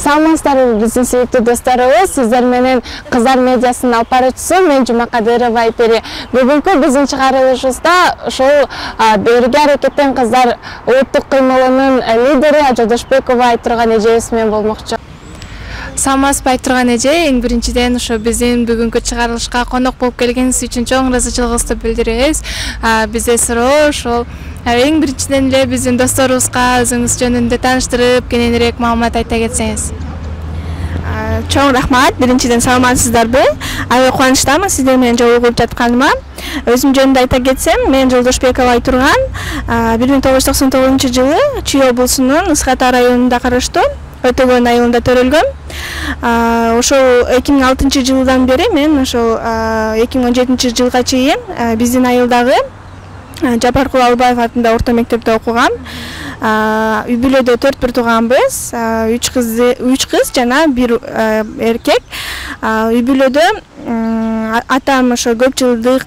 Саламатсыздарбы биздин сүйүктүү досторубуз, сиздер менен Кыздар медиасынын алып баруучусу мен Жума Кадырова Айпери. Бүгүнкү биздин чыгарылышыбызда ушул Бирге аракеттен кыздар улуттук кыймылынын лидери Жолдошбекова Айтурган эжебиз менен болмокчу. Саламатсызбы Айтурган эже, эң биринчиден ошо биздин бүгүнкү чыгарылышка конок болуп келгениңиз үчүн чоң ыраазычылыгыбызды билдиребиз. Бизде суроо ошол эң биринчиден эле биздин досторубузга өзүңүз жөнүндө тааныштырып, кененирээк маалымат айта кетсеңиз. Чоң рахмат. Биринчиден саламатсыздарбы? Аябай кубанычтамын сиздер менен жолугуп жатканыма. Өзүм жөнүндө айта кетсем, мен Жолдошбекова Айтурган 1999 Чүй облусунун Ысык Ата районунда караштуу Өтөгөн айылында төрөлгөм. Ошол 2006 жылдан бери мен ошол 2017 жылга чейин биздин айылдагы Жапаркул Албаев атындагы орто мектепте окугам. Үй бүлөдө 4 тууганбыз, 3 кыз жана 1 эркек. Үй бүлөдө атам ошо көп жылдык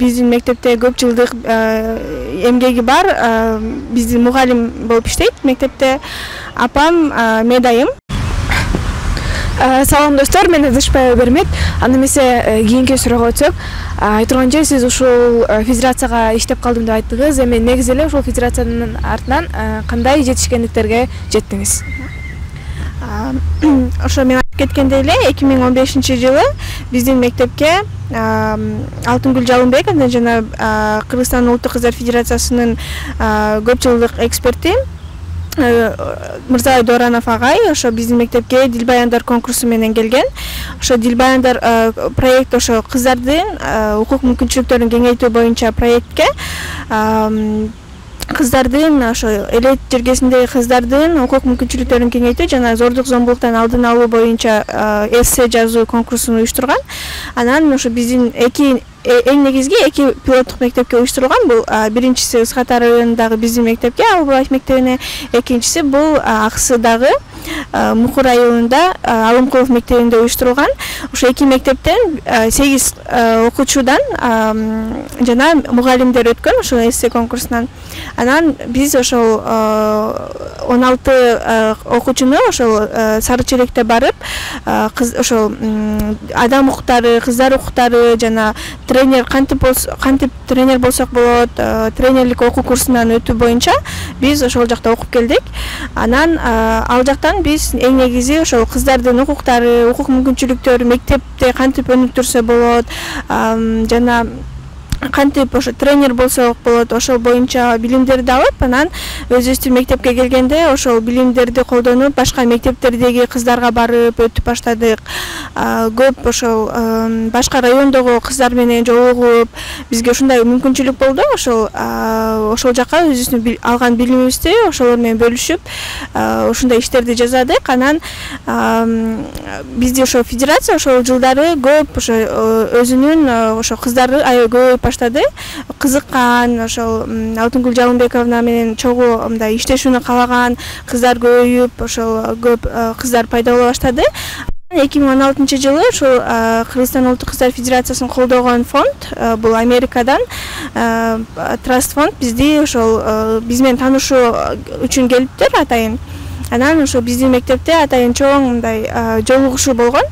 биздин мектепте көп жылдык эмгеги бар, биздин мугалим болуп иштейт мектепте. Апам медайым. Салам достор, мен Адышбаева Бермет. Аны эмесе кийинки суроого өтсөк, Айтурган эже, сиз ушул федерацияга иштеп калдым деп айттыңыз. Эми негизи эле ушул федерациянын артынан кандай жетишкендиктерге жеттиңиз? Ошо мен айтып кеткендей эле 2015 жылы биздин мектепке Алтынгүл Жалынбекова жана Кыргызстан Улуттук Кыздар Федерациясынын көп жылдык эксперти Мырзабай Доранов агай ошо биздин мектепке Дилбаяндар конкурсу менен келген. Ошо Дилбаяндар проект ошо кыздардын укук мүмкүнчүлүктөрүн кеңейтүү боюнча проектке кыздардын ошо элет жергесиндеги кыздардын укук мүмкүнчүлүктөрүн кеңейтүү жана зордук зомбулуктан алдын алуу боюнча эссе жазуу конкурсун уюштурган. Анан ошо биздин эң негизги 2 пилоттук мектепке уюштурулган. Бул биринчиси Ысык Ата районундагы биздин мектепке, Албаев мектебине, экинчиси бул Аксыдагы Мукур айылында Алымкулов мектебинде уюштурулган. Ошо 2 мектептен 8 окуучудан жана мугалимдер өткөн ошо эссе конкурсунан. Анан биз ошол 16 окуучуну ошол Сары Челекте барып, ошол адам укуктары, кыздар укуктары жана тренер кантип тренер болсок болот, тренерлик окуу курсунан өтүү боюнча биз ошол жакта окуп келдик. Анан ал жактан биз эң негизи ошол кыздардын укуктары, укук мүмкүнчүлүктөрү мектепте кантип өнүктүрсө болот, жана кантип ошо тренер болсок болот, ошол боюнча билимдерди алып, анан өзүбүздүн мектепке келгенде ошол билимдерди колдонуп, башка мектептердеги кыздарга барып өтүп баштадык. Көп ошол башка райондогу кыздар менен жолугуп, бизге ушундай мүмкүнчүлүк болду. Ошол жака өзүбүздүн алган билимибизди ошолор менен бөлүшүп, ушундай иштерди жасадык. Анан бизде ошо федерация ошол жылдары көп ошо өзүнүн ошо кыздары аябай көп баштады. Кызыккан, ошол Алтынгүл Жалынбековна менен чогуу мындай иштешүүнү каалаган кыздар көбөйүп, ошол көп кыздар пайда боло баштады. 2016 жылы ошол Кыргызстан Улуттук Кыздар Федерациясын колдогон фонд, бул Америкадан Траст фонд бизди ошол биз менен таанышуу үчүн келиптир атайын. Анан ошо биздин мектепте атайын чоң мындай жолугушуу болгон.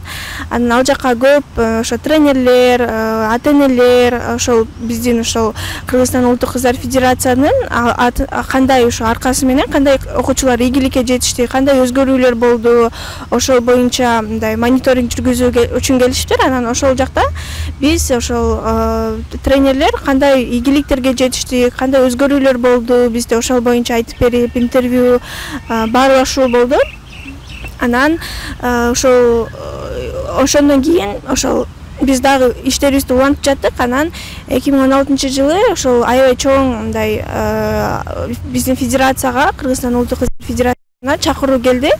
Анан ал жака көп ошо тренерлер, ата-энелер, ошол биздин ошол Кыргызстан Улуттук Кыздар Федерациянын кандай ошо аркасы менен кандай окуучулар ийгиликке жетишти, кандай өзгөрүүлөр болду, ошол боюнча мындай мониторинг жүргүзүү үчүн келишиптир. Анан ошол жакта биз ошол тренерлер кандай ийгиликтерге жетишти, кандай өзгөрүүлөр болду, бизде ошол боюнча айтып берип, интервью баарлашуу болду. Анан ошондон кийин ошол биз дагы иштерибизди улантып жаттык. Анан 2016 жылы ошол аябай чоң мындай биздин федерацияга, Кыргызстан Улуттук Кыздар Федерациясына чакыруу келди.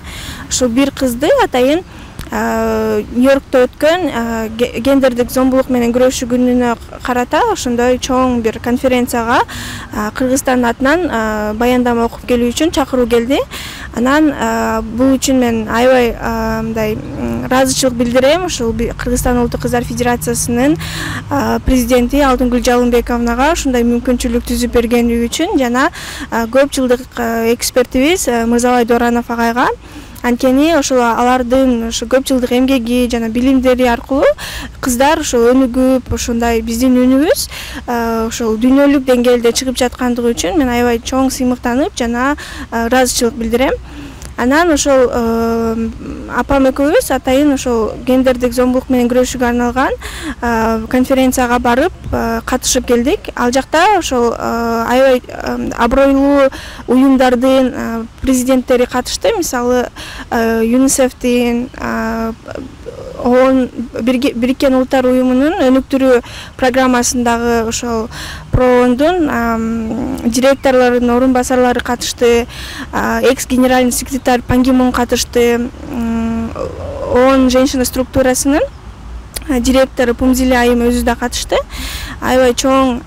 Ошол бир кызды атайын Нью-Йоркто өткөн гендердик зомбулук менен күрөшүү күнүнө карата ошондой чоң бир конференцияга Кыргызстан атынан баяндама окуп келүү үчүн чакыруу келди. Анан бул үчүн мен аябай мындай ыраазычылык билдирем ушул Кыргызстан Улуттук Кыздар Федерациясынын президенти Алтынгүл Жалынбековнага ушундай мүмкүнчүлүк түзүп бергени үчүн жана көп жылдык экспертибиз Мырзабай Доранов агайга Анткени ошол алардын ошо көп жылдык эмгеги жана билимдери аркылуу кыздар ошо өнүгүп, ошондой биздин үнүбүз ошол дүйнөлүк деңгээлде чыгып жаткандыгы үчүн мен аябай чоң сыймыктанып жана ыраазычылык билдирем. Анан ошол апам экөөбүз атайын ошол гендердик зомбулук менен күрөшүүгө арналган конференцияга барып катышып келдик. Ал жакта ошол аябай абройлуу уюмдардын президенттери катышты. Мисалы ЮНИСЕФтин, ООН Бириккен Улуттар уюмунун өнүктүрүү программасындагы ошол ПРООНдун директорлорунун орун басарлары катышты. Экс-генеральный секретарь Пан Ги Мун катышты. ООН женщина структурасынын директору Пумзиле Айым өзү да катышты. Аябай чоң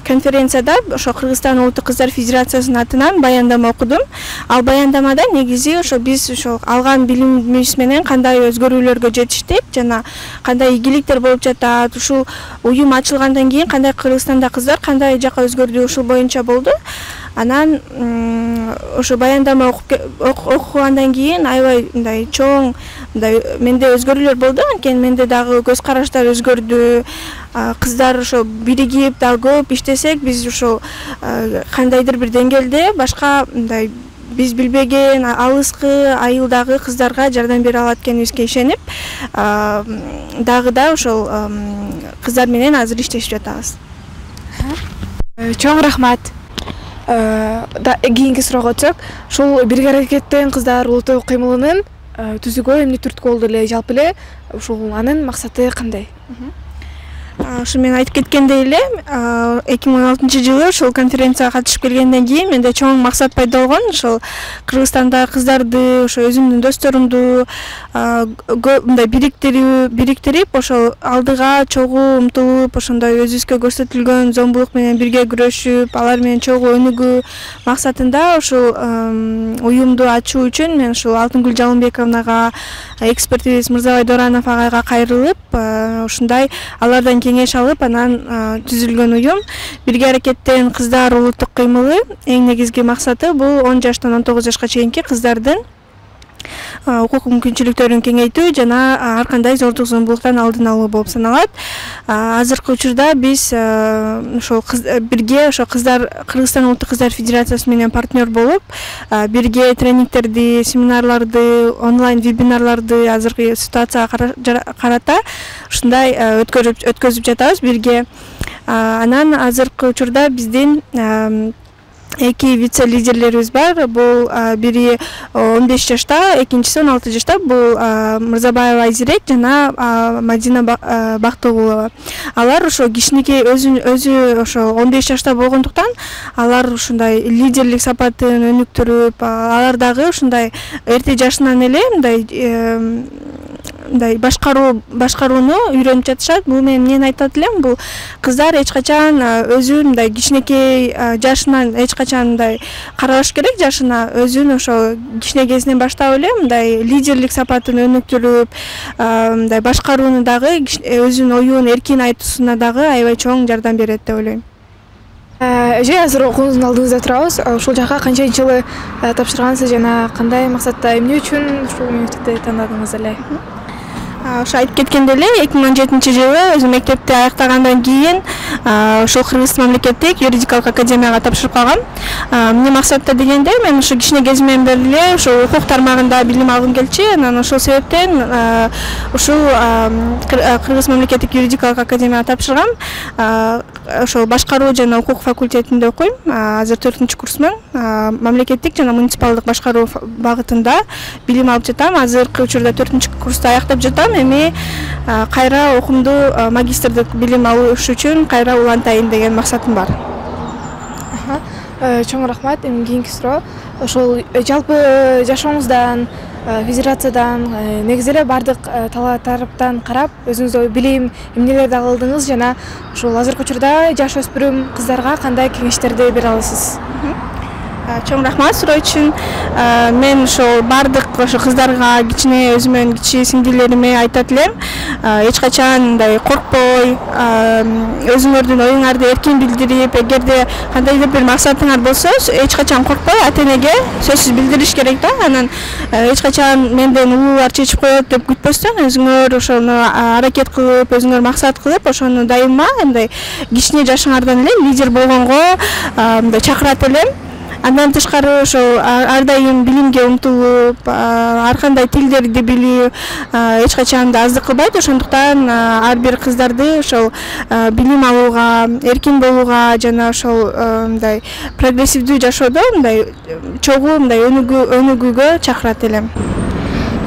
конференцияда ошо Кыргызстан Улуттук кыздар федерациясынын атынан баяндама окудум. Ал баяндамада негизи ошо биз ошо алган билимибиз менен кандай өзгөрүүлөргө жетиштик жана кандай ийгиликтер болуп жатат, ушул уюм ачылгандан кийин кандай Кыргызстанда кыздар кандай жакка өзгөрдү, ушул боюнча болду. Анан ошо баяндама окугандан кийин аябай мындай чоң менде өзгөрүүлөр болду. Анткени менде дагы көз караштар өзгөрдү. Кыздар ошо биригип дагы көп иштесек, биз ошо кандайдыр бир деңгээлде башка мындай биз билбеген алыскы айылдагы кыздарга жардам бере алат экенибизге ишенип, дагы да ошол кыздар менен азыр иштешип жатабыз. Чоң рахмат. Кийинки суроого өтсөк, ушул бирге аракеттен кыздар улуттук кыймылынын түзүүгө эмне түрткү болду эле, жалпы эле ушул анын максаты кандай? Ошо мен айтып кеткендей эле 2016-жылы ошол конференцияга катышып келгенден кийин менде чоң максат пайда болгон. Ошол Кыргызстанда кыздарды, ошо өзүмдүн досторумду мындай бириктирип, ошол алдыга чогуу умтулуп, ошондой өзүбүзгө көрсөтүлгөн зомбулук менен бирге күрөшүп, алар менен чогуу өнүгүү максатында ошол уюмду ачуу үчүн мен ушул Алтынгүл Жалымбековнага, экспертибиз Мырзабай Доранов агайга кайрылып, ушундай алардан кеңеш алып, анан түзүлгөн уюм. Бирге аракеттен кыздар улуттук кыймылы эң негизги максаты бул 10 жаштан 19 жашка чейинки кыздардын укук мүмкүнчүлүктөрүн кеңейтүү жана ар кандай зордук зомбулуктан алдын алуу болуп саналат. Азыркы учурда биз ошол бирге ошо кыздар Кыргызстан Улуттук кыздар федерациясы менен партнер болуп, бирге тренингтерди, семинарларды, онлайн вебинарларды азыркы ситуацияга карата ушундай өткөзүп жатабыз бирге. Анан азыркы учурда биздин эки вице-лидерлерибиз бар. Бул бири 15 жашта, экинчиси 16 жашта. Бул Мырзабаева Айзирек жана Мадина Бактыгулова. Алар ошо кичинекей өзү ошо 15 жашта болгондуктан алар ушундай лидерлик сапатын өнүктүрүп, алар дагы ушундай эрте жашынан эле мындай башкарууну үйрөнүп жатышат. Бул мен эмнени айтат элем, бул кыздар эч качан өзүн мындай кичинекей жашынан эч качан мындай карабаш керек жашына. Өзүн ошо кичине кезинен баштап эле мындай лидерлик сапатын өнүктүрүп, мындай башкарууну дагы өзүнүн оюн эркин айтуусуна дагы аябай чоң жардам берет деп ойлойм. Эже, азыр окууңуздун алдыңызда турабыз. Ушул жакка канчанчы жылы тапшыргансыз жана кандай максатта, эмне үчүн ушул университетти тандадыңыз эле? Ошо айтып кеткендей эле 2017-жылы өзүм мектепти аяктагандан кийин ошол Кыргыз мамлекеттик юридикалык академияга тапшырып калгам. Эмне максатта дегенде, мен ошо кичине кезимден бери эле ошо укук тармагында билим алгым келчү. Анан ошол себептен ушул Кыргыз мамлекеттик юридикалык академияга тапшыргам. Ошол башкаруу жана укук факультетинде окуйм. Азыр 4-курсмун. Мамлекеттик жана муниципалдык башкаруу багытында билим алып жатам. Азыркы учурда 4-курсту аяктап жатам. Эми кайра окумду магистрдык билим алыш үчүн кайра улантайын деген максатым бар. Чоң рахмат. Эми кийинки суроо. Ошол жалпы жашооңуздан, федерациядан, негизи эле бардык тараптан карап, өзүңүздө билим эмнелерди алдыңыз жана ошол азыркы учурда жаш өспүрүм кыздарга кандай кеңештерди бере аласыз? Чоң рахмат суроо үчүн. Мен ошол бардык ошо кыздарга, кичине өзүмөн кичи сиңдилериме айтат элем. Эч качан мындай коркпой, өзүңөрдүн оюңарды эркин билдирип, эгерде кандайдыр бир максатыңар болсо, эч качан коркпой ата-энеге сөзсүз билдириш керек да. Анан эч качан менден улуулар чечип коет деп күтпөстөн, өзүңөр ошону аракет кылып, өзүңөр максат кылып, ошону дайыма мындай кичине жашыңардан эле лидер болгонго мындай чакырат элем. Андан тышкары ошол ар дайым билимге умтулуп, ар кандай тилдерди билүү эч качан да аздык кылбайт. Ошондуктан ар бир кыздарды ошол билим алууга, эркин болууга жана ошол мындай прогрессивдүү жашоодо мындай чогуу мындай өнүгүүгө чакырат элем.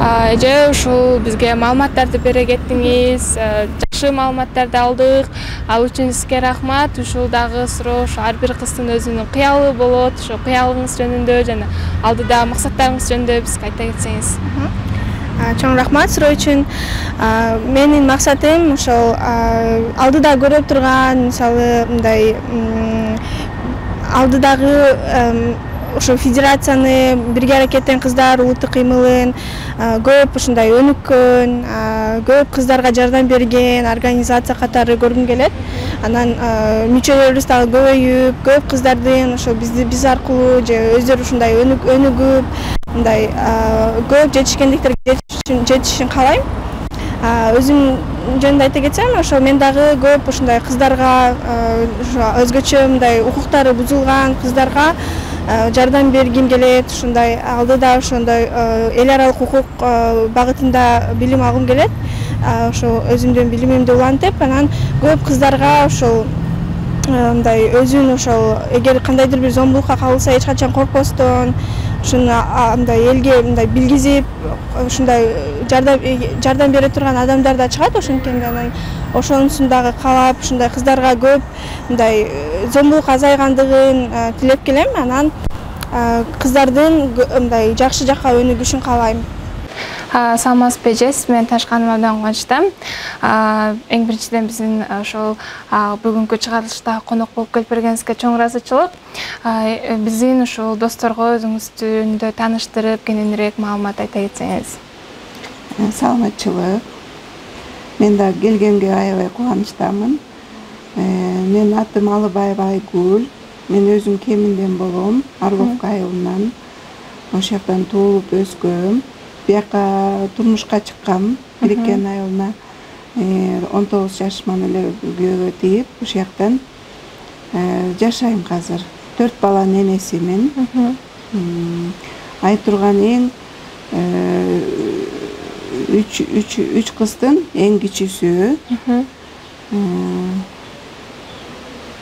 Эже ушул бизге маалыматтарды бере кеттиңиз, жакшы маалыматтарды алдык. Ал үчүн сизге рахмат. Ушул дагы суроо ошо ар бир кыздын өзүнүн кыялы болот, ошо кыялыңыз жөнүндө жана алдыда максаттарыңыз жөнүндө бизге айта кетсеңиз. Чоң рахмат суроо үчүн. Менин максатым ошол алдыда көрүп турган, мисалы мындай алдыдагы ошо федерацияны бирге аракеттен кыздар улуттук кыймылын көп ушундай өнүккөн, көп кыздарга жардам берген организация катары көргүм келет. Анан мүчөлөрүбүз дагы көбөйүп, көп кыздардын ошо биз аркылуу же өздөрү ушундай өнүгүп, мындай көп жетишкендиктерге жетишин каалайм. Өзүм жөнүндө айта кетсем, ошо мен дагы көп ушундай кыздарга, өзгөчө мындай укуктары бузулган кыздарга жардам бергим келет. Ушундай алдыда ошондой эл аралык укук багытында билим алгым келет. Ошо өзүмдүн билимимди улантып, анан көп кыздарга ошол мындай өзүн ошол эгер кандайдыр бир зомбулукка кабылса эч качан коркпостон, ушуну мындай элге мындай билгизип, ушундай жардам бере турган адамдар да чыгат. Ошонткени анан ошонусун дагы каалап, ушундай кыздарга көп мындай зомбулук азайгандыгын тилеп келем. Анан кыздардын мындай жакшы жакка өнүгүшүн каалайм. Саламатсызбы эже, сиз менен таанышканыма абдан кубанычтамын. Эң биринчиден биздин ошол бүгүнкү чыгарылышта конок болуп келип бергениңизге чоң ыраазычылык. Биздин ушул досторго өзүңүздү тааныштырып, кененирээк маалымат айта кетсеңиз. Саламатчылык. Мен да келгенге аябай кубанычтамын. Менин атым Алыбаева Айгүл. Мен өзүм Кеминден болом, Орловка айылынан. Ошол жактан туулуп өскөм. Бияка турмушка чыккам, Бирикен айылына 19 жашыман эле күйөөгө тийип, ошол жактан жашайм азыр. 4 баланын энесимин. Айтурган эң 3 кыздын эң кичүүсү.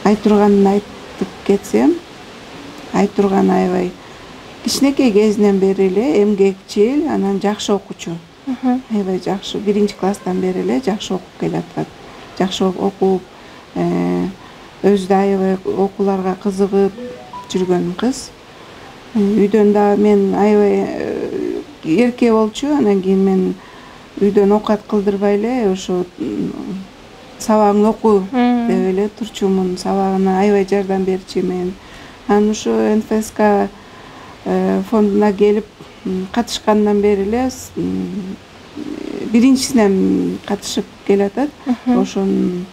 Айтурганын айтып кетсем, Айтурган аябай кичинекей кезинен бери эле эмгекчил, анан жакшы окуучу. Аябай жакшы, 1-класстан бери эле жакшы окуп келатат. Жакшы окуп, өзү да аябай окууларга кызыгып жүргөн кыз. Үйдөн да мен аябай эрке болчу, анан кийин мен үйдөн оокат кылдырбай эле ошо сабагыңды оку деп эле турчумун. Сабагына аябай жардам берчүмүн. Анан ошо НФСК фондуна келип катышкандан бери эле биринчисинен катышып келатат. Ошону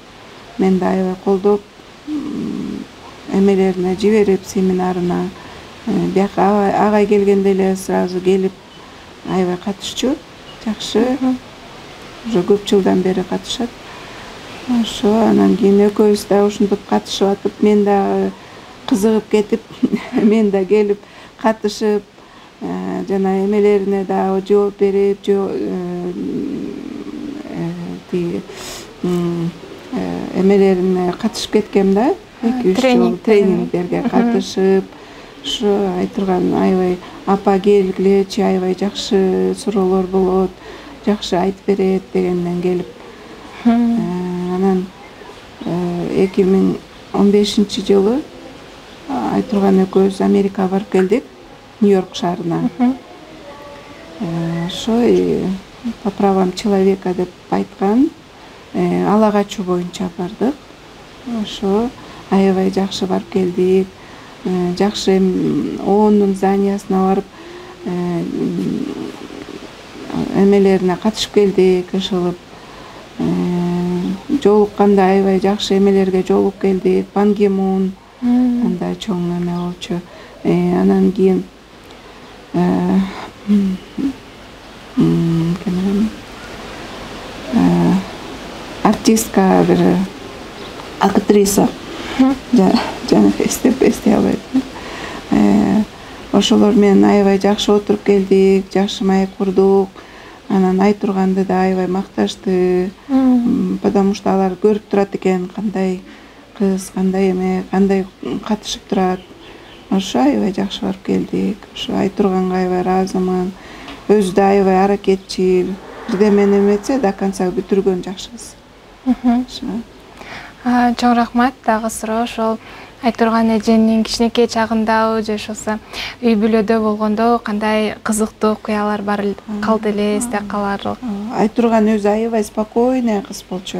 мен да аябай колдоп, эмелерине жиберип, семинарына. Бияка агай келгенде эле сразу келип аябай катышчу. Жакшы. Уже көп жылдан бери катышат. Ошо анан кийин экөөбүз да ушинтип катышып атып, мен да кызыгып кетип, мен да келип катышып, жана эмелерине да жооп берип, эмелерине катышып кеткем да. 2-3 жолу тренингдерге катышып, ошо айтырган аябай апа келгилечи, аябай жакшы суроолор болот, жакшы айтып берет дегенден келип. Анан 2015 жылы Айтурган экөөбүз Америкага барып келдик, Нью-Йорк шаарына. Ошо по правам человека деп айткан, ала качуу боюнча бардык. Ошо аябай жакшы барып келдик. жакшы оондун зданиясына барып эмелерине катышып келдик, ышылып жолукканда аябай жакшы эмелерге жолугуп келдик. Пан Ги Мун андай чоң эме болчу. Анан кийин артистка бир актриса жана эстей албайм. Ошолор менен аябай жакшы отуруп келдик, жакшы маек курдук. Анан Айтурганды да аябай макташты, потому что алар көрүп турат экен кандай кыз, кандай эме, кандай катышып турат. Ошо аябай жакшы барып келдик. Ошо Айтурганга аябай ыраазымын. Өзү да аябай аракетчил, бирдемени эметсе до конца бүтүргөн жакшы кыз. Чоң рахмат. Дагы суроо ошол Айтурган эженин кичинекей чагында же ошосо үй бүлөдө болгондо кандай кызыктуу окуялар бар калды эле эсте каларлык? Айтурган өзү аябай спокойный кыз болчу.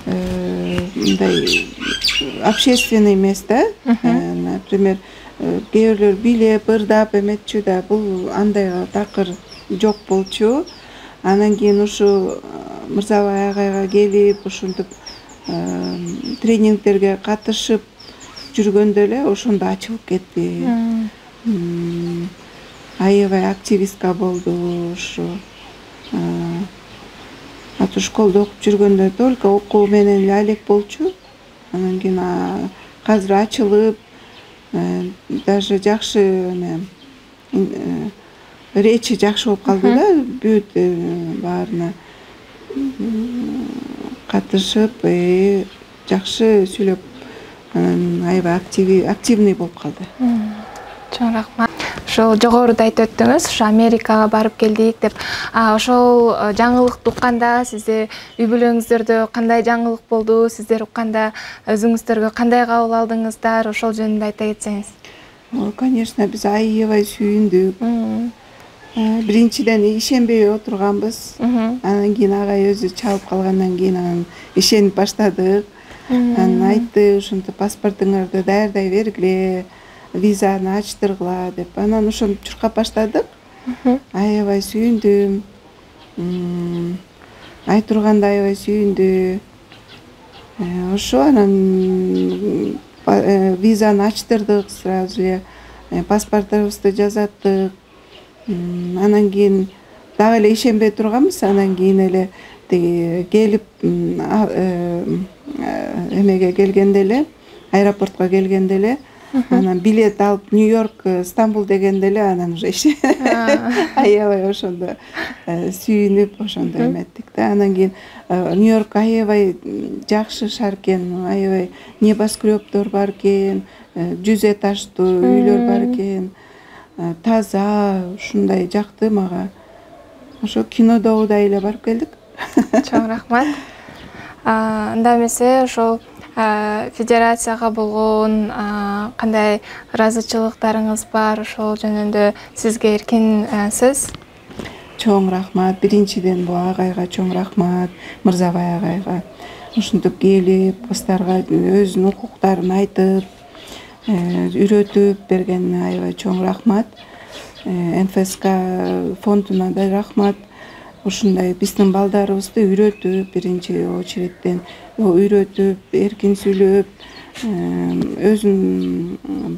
Мындай общественный эмес да. Например, кээ бирлер бийлеп, ырдап эметчү да, бул андайга такыр жок болчу. Анан кийин ушу Мырзабай агайга келип, ушинтип тренингтерге катышып жүргөндө эле ошондо ачылып кетти. Аябай активистка болду ушу. Аты школдо окуп жүргөндө только окуу менен эле алек болчу. Анан кийин азыр ачылып, даже жакшы эме речи жакшы болуп калды да, бүт баарына катышып, жакшы сүйлөп, анан аябай активный болуп калды. Чоң рахмат. Ошол жогоруда айтып өттүңүз, ошо Америкага барып келдик деп. Ошол жаңылыкты укканда сизде үй бүлөңүздөрдө кандай жаңылык болду? Сиздер укканда өзүңүздөргө кандай кабыл алдыңыздар? Ошол жөнүндө айта кетсеңиз. Конечно, биз аябай сүйүндүк. Биринчиден ишенбей отурганбыз. Анан кийин агай өзү чалып калгандан кийин анан ишенип баштадык. Анан айтты, ушинтип паспортуңарды даярдай бергиле, визаны ачтыргыла деп. Анан ошентип чуркап баштадык. Аябай сүйүндүм. Айтурган да аябай сүйүндү. Ошо анан визаны ачтырдык сразу эле. Паспортубузду жазаттык. Анан кийин дагы эле ишенбей турганбыз. Анан кийин эле келип эмеге келгенде эле, аэропортко келгенде эле, анан билет алып Нью-Йорк, Стамбул дегенде эле анан уже аябай ошондо сүйүнүп, ошондо эметтик да. Анан кийин Нью-Йорк аябай жакшы шаар экен, аябай небоскребдор бар экен, 100 этаждуу үйлөр бар экен. Таза, ушундай жакты мага. Ошо кинодогудай эле барып келдик. Чоң рахмат. Анда эмесе ошол федерацияга болгон кандай ыраазычылыктарыңыз бар? Ошол жөнүндө сизге эркин сөз. Чоң рахмат. Биринчиден бул агайга чоң рахмат, Мырзабай агайга. Ушинтип келип, кыздарга өзүнүн укуктарын айтып, үйрөтүп бергенине аябай чоң рахмат. НФСК фондуна да рахмат. Ушундай биздин балдарыбызды үйрөтүп, биринчи очередден үйрөтүп, эркин сүйлөп, өзүнүн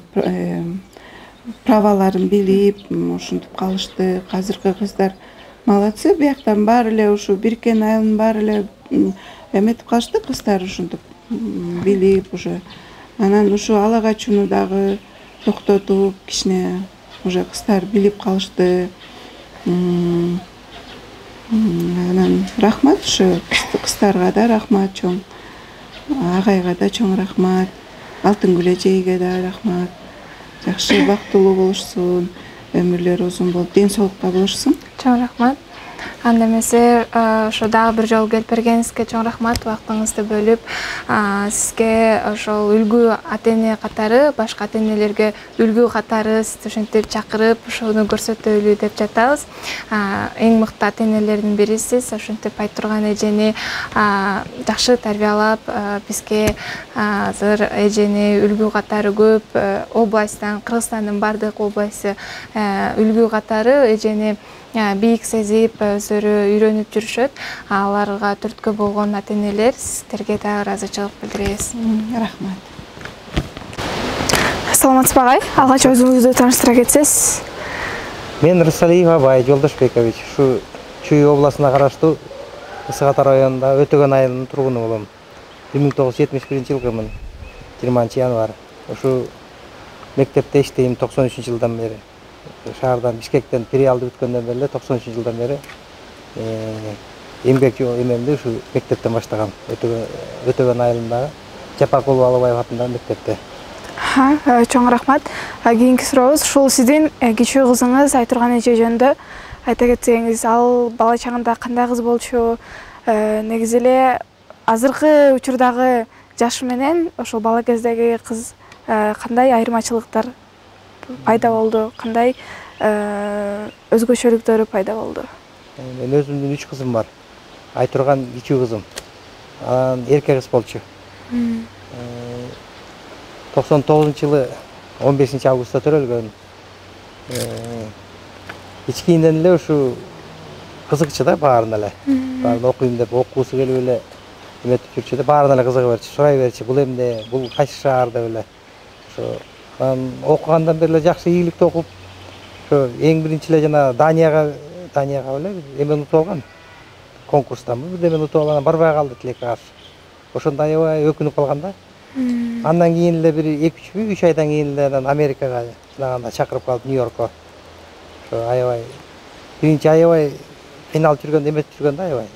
праваларын билип, ушинтип калышты. Азыркы кыздар молодцы, бияктан баары эле ушу Биркен айылынын баары эле эметип калышты, кыздар ушинтип билип уже. Анан ушу ала качууну дагы токтотуп, кичине уже кыздар билип калышты. Анан рахмат ушу кыздарга да рахмат чоң. Агайга да чоң рахмат. Алтынгүл эжейге да рахмат. Жакшы бактылуу болушсун, өмүрлөрү узун болуп, ден соолукта болушсун. Чоң рахмат. Анда эмесе ошо дагы бир жолу келип бергениңизге чоң рахмат, убактыңызды бөлүп, сизге ошол үлгү ата-эне катары, башка ата-энелерге үлгү катары сизди ушинтип чакырып, ошону көрсөтөлү деп жатабыз. Эң мыкты ата-энелердин бирисиз. Ошентип Айтурган эжени жакшы тарбиялап, бизге азыр эжени үлгү катары көп областтан, Кыргызстандын бардык областы үлгү катары эжени бийик сезип, өздөрү үйрөнүп жүрүшөт. Аларга түрткү болгон ата-энелер, сиздерге да ыраазычылык билдиребиз. Рахмат. Саламатсызбы агай? Алгач өзүңүздү тааныштыра кетсеңиз. Мен Рысалиев Абай Жолдошбекович, ушу Чүй областына караштуу Ысык Ата районунда Өтөгөн айылынын тургуну болом. 1971-жылгымын, 20-январь. Ушу мектепте иштейм 93-жылдан бери. Шаардан Бишкектен филиалды бүткөндөн бери 93-жылдан бери эмгек эмемди ушу мектептен баштагам. Өтөгөн айылындагы Жапаркул Балабаев атындагы мектепте. Чоң рахмат. Кийинки сурообуз ушул сиздин кичүү кызыңыз Айтурган эже жөнүндө айта кетсеңиз, ал бала чагында кандай кыз болчу? Негизи эле азыркы учурдагы жаш менен ошол бала кездеги кыз кандай айырмачылыктар пайда болду, кандай өзгөчөлүктөрү пайда болду? Мен өзүмдүн 3 кызым бар. Айтурган кичүү кызым. Анан эркек кыз болчу. 99-жылы 15-августта төрөлгөн. Кичинен эле ушу кызыкчы да баарына эле. Баарын окуйм деп, окуусу келип эле эметип жүрчү да, баарына эле кызыга берчү, сурай берчү. Бул эмне, бул кайсы шаар деп эле. Ошо окугандан бери эле жакшы ийгиликтүү окуп, ошо эң биринчи эле жана Данияга эле эме утуп алган. Конкурстанбы бирдеме утуп алган, барбай калды тилекке каршы. Ошондо аябай өкүнүп калган да. Андан кийин эле бир 2-3 айдан кийин эле Америкага чыганда чакырып калып, Нью-Йоркко. Ошо аябай биринчи аябай кыйналып жүргөн, эметип жүргөн да аябай.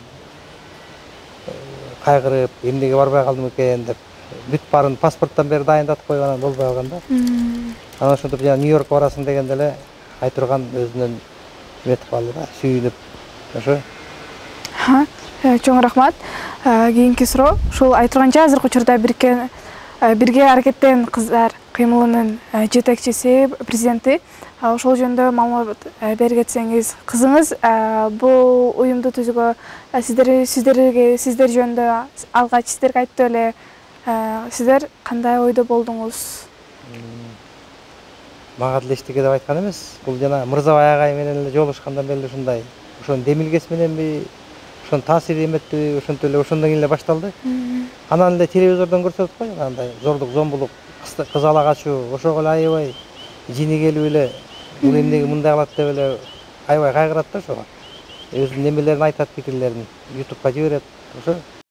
Кайгырып, эмнеге барбай калдым экен деп. Бүт баарын паспорттон бери дайындатып коюп анан болбой калган да. Анан ошентип жана Нью-Йоркко барасың дегенде эле Айтурган өзүнөн эметип калды да, сүйүнүп. Ошо. Чоң рахмат. Кийинки суроо, ушул Айтурганча азыркы учурда бирге аракеттен кыздар кыймылынын жетекчиси, президенти. Ошол жөнүндө маалымат берип кетсеңиз, кызыңыз бул уюмду түзүүгө сиздер жөнүндө алгач сиздерге айтты эле, сиздер кандай ойдо болдуңуз? Мага деле эчтеке деп айткан эмес. Бул жана Мырзабай агай менен эле жолугушкандан бери ушундай. Ошонун демилгеси мененби, ошонун таасири эметпи, ошентип эле ошондон кийин эле башталды. Анан эле телевизордон көрсөтүп кой, андай зордук, зомбулук, кыз ала качуу, ошого эле аябай жини келип эле, бул эмнеге мындай кылат деп эле аябай кайгырат да ошого. Өзүнүн немелерин айтат, пикирлерин YouTubeга жиберет. Ошо